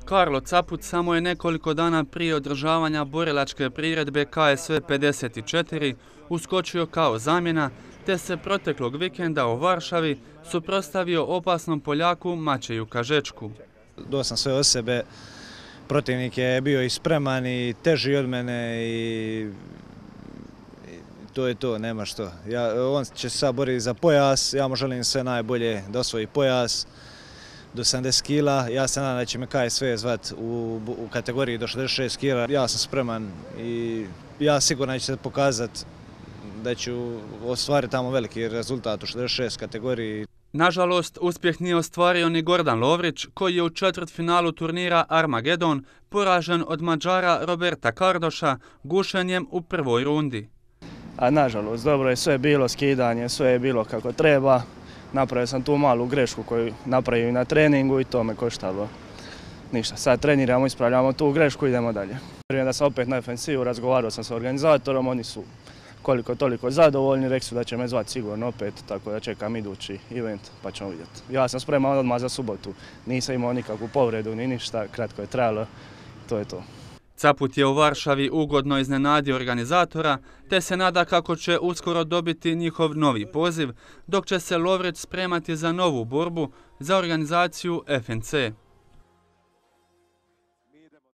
Karlo Caput samo je nekoliko dana prije održavanja borilačke priredbe KSV 54 uskočio kao zamjena, te se proteklog vikenda u Varšavi suprotstavio opasnom Poljaku Mačeju Kažečku. Dao sam sve od sebe, protivnik je bio i spreman i teži od mene i to je to, nema što. On će se sad boriti za pojas, ja mu želim sve najbolje da osvoji pojas do 70 kila. Ja se nadam da će me KSV zvat u kategoriji do 66 kila. Ja sam spreman i ja sigurno da ću se pokazati da ću ostvariti tamo veliki rezultat u 66 kategoriji. Nažalost, uspjeh nije ostvario ni Gordan Lovrić, koji je u četvrtfinalu turnira Armagedon poražen od Mađara Roberta Kardoša gušenjem u prvoj rundi. A nažalost, dobro je sve bilo, skidanje, sve je bilo kako treba. Napravio sam tu malu grešku koju napravio i na treningu i to me koštalo. Ništa, sad treniramo, ispravljamo tu grešku i idemo dalje. Vjerujem da sam opet na ofensivu, razgovarao sam sa organizatorom, oni su koliko toliko zadovoljni, rekli su da će me zvati sigurno opet, tako da čekam idući event pa ćemo vidjeti. Ja sam spreman odmah za subotu, nisam imao nikakvu povredu ni ništa, kratko je trajalo, to je to. Caput je u Varšavi ugodno iznenadio organizatora, te se nada kako će uskoro dobiti njihov novi poziv, dok će se Lovrić spremati za novu borbu za organizaciju FNC.